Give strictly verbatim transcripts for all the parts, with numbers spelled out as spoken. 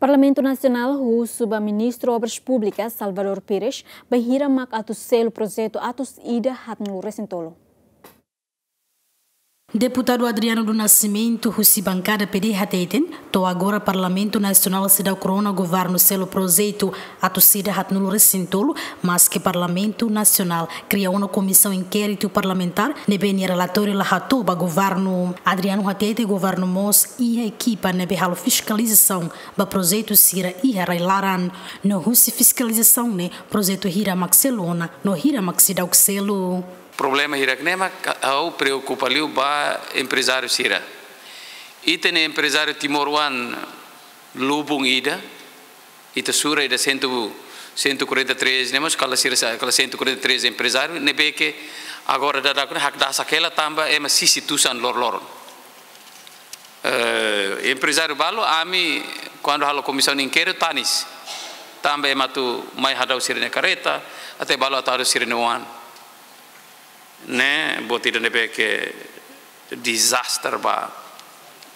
Parlamentu Nasionál husu ba Ministru Obras Públikas Salvador Pires bainhira mak atu selu projetu atus ida haatnulu resin tolu. Deputadu Adriano do Nascimento, husi bankada P D, hateten, to'o agora Parlamentu Nasionál seidauk rona governu selu projetu atus ida haatnulu resin tolu, maske Parlamentu Nasionál kria ona komisaun inkéritu parlamentár ne'ebé nia relatóriu la hato'o ba governu. Adriano hateten governu mós iha ekipa ne'ebé halo fiskalizasaun ba projetu sira iha rai-laran. No husi fiskalizasaun ne'e, projetu hira mak selu ona, no hira mak seidauk selu. Problema hirak-ne'e mak ha'u preokupa liu ba emprezáriu sira. Ita-nia emprezáriu timoroan lubun ida, ita sura ida cento, cento e quarenta e três, ne'e mós kala sira sa-, kala cento e quarenta e três emprezáriu, ne'ebé ke agora daudaun ne'e hakdasak hela tanba ema sisi tusan loroloron. Eh, emprezáriu balu, ami, kuandu halo komisaun inkéritu, tanis. Tanba ema atu mai hadau sira-nia kareta, até balu atu hadau sira-nia oan. Ne'e, buat ida ne'ebé ke dezastre ba,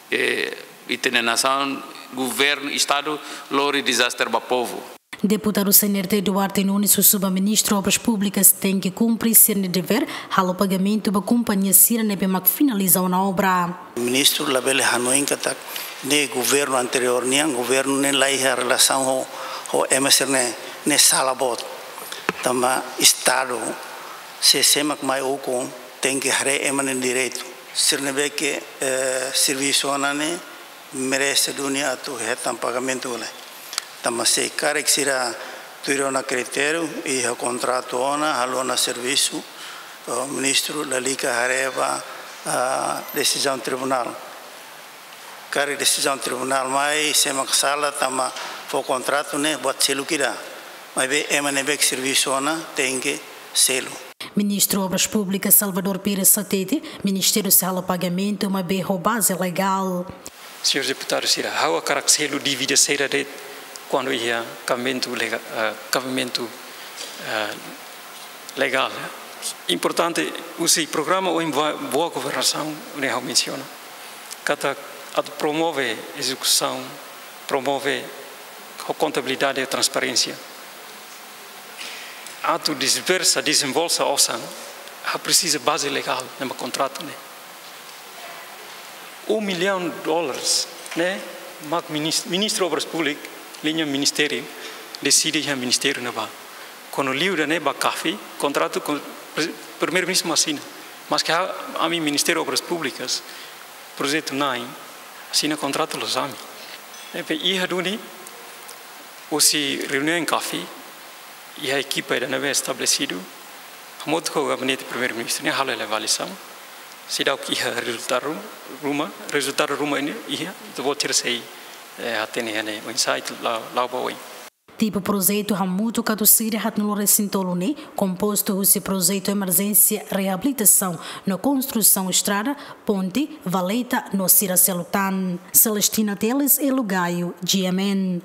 eh, ita-nia nasaun, governu, Estadu, lori dezastre ba povu. Deputadu C N R T Duarte Nunes husu ba Ministru Obras Públikas tenke kumpre sira-nia devér, halo pagamentu ba kompañia sira ne'ebé mak finaliza ona obra. Ministru labele hanoin katak ne'e governu anteriór nian, governu ne'e la iha relasaun ho, ho ema sira-ne'e, ne'e sala boot. Tanba Estadu, sé-sé mak mai ukun, tenke haree ema nia direitu. Sira ne'ebé ke, eh, servisu ona ne'e, merese duni atu hetan pagamentu lai. Tanba se karik sira tuir ona kritériu, iha kontratu ona, halo ona servisu, eh, ministru lalika haree ba, ah, desizaun tribunál. Karik desizaun tribunál mai, sé mak sala tanba fó kontratu ne'e buat seluk ida. Maibé ema ne'ebé ke servisu ona, tenke selu. Ministru Obras Públikas Salvador Pires hateten, Ministériu sei halo pagamentu, maibé ho baze legál. Señór deputadu sira, ha'u hakarak selu dívida sira de'it kuandu iha kabimentu lega-, eh, kabimentu, eh, legál. Importante, husi programa oin boa, boa governasaun, ne'e ha'u mensiona. Katak atu promove ezekusaun, promove ho kontabilidade i transparénsia. Atu disbursa, dezembolsa osan, ha'u presiza baze legál, ne'e mak kontratu ne'e. Um milhão de dólares, ne'e mak minis-, Ministru Obras Públikas, liña ministériu, deside iha ministériu ne'ebá. Kuandu liu ida-ne'e ba CAFI, kontratu ho pre-, Primeiru-Ministru mak asina. Maske ha'u, ami Ministériu Obras Públikas, projetu na'in, asina kontratu loos ami. Ne'ebé iha duni, husi reuniaun CAFI, iha ekipa ida ne'ebé estabelesidu, hamutuk ho gabinete Primeiru-Ministru, ne'e halo hela avaliasaun, seidauk iha rezultadu ru-, ruma, rezultadu ruma ne'e iha, ita-boot sira sei, eh, hatene iha ne'e, oinsá ita la'o, la'o ba oin. Tipu projetu hamutuk atus ida haatnulu resin tolu ne'e, kompostu husi projetu emerjénsia reabilitasaun no konstrusaun estrada, ponte, valeta no sira seluk tan. Celestina Teles, Elo Gaio, G M N.